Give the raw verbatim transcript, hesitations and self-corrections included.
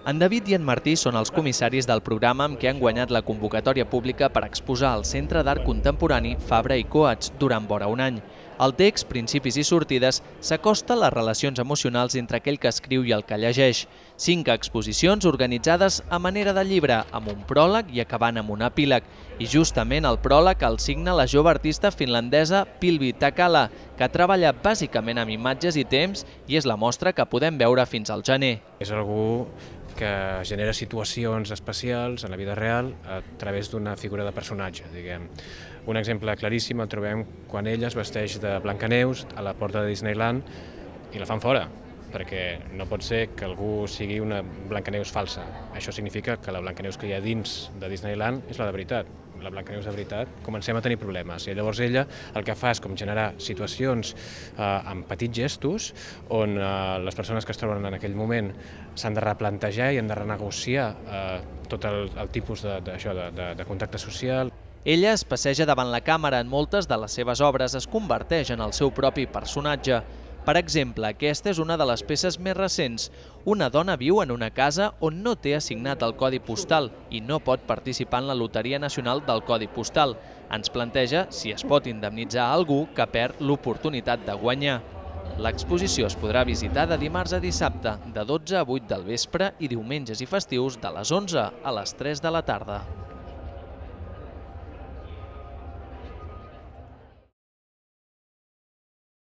En David i en Martí són els comissaris del programa amb què han guanyat la convocatòria pública per exposar al Centre d'Art Contemporani Fabra i Coats durant vora un any. El text, Principis i sortides, s'acosta a les relacions emocionals entre aquell que escriu i el que llegeix. Cinc exposicions organitzades a manera de llibre, amb un pròleg i acabant amb un epíleg. I justament el pròleg el signa la jove artista finlandesa Pilvi Takala, que treballa bàsicament amb imatges i temps i és la mostra que podem veure fins al gener. És algú que genera situacions especials en la vida real a través d'una figura de personatge, diguem. Un exemple claríssim el trobem quan ella es vesteix de Blancaneus a la porta de Disneyland i la fan fora, perquè no pot ser que algú sigui una Blancaneus falsa. Això significa que la Blancaneus que hi ha dins de Disneyland és la de veritat. La Blancaneus de veritat, comencem a tenir problemes. I llavors ella el que fa és com generar situacions eh, amb petits gestos on eh, les persones que es troben en aquell moment s'han de replantejar i han de renegociar eh, tot el, el tipus de, de, això, de, de, de contacte social. Ella es passeja davant la càmera en moltes de les seves obres, es converteix en el seu propi personatge. Per exemple, aquesta és una de les peces més recents. Una dona viu en una casa on no té assignat el codi postal i no pot participar en la Loteria Nacional del Codi Postal. Ens planteja si es pot indemnitzar algú que perd l'oportunitat de guanyar. L'exposició es podrà visitar de dimarts a dissabte, de dotze a vuit del vespre i diumenges i festius de les onze a les tres de la tarda.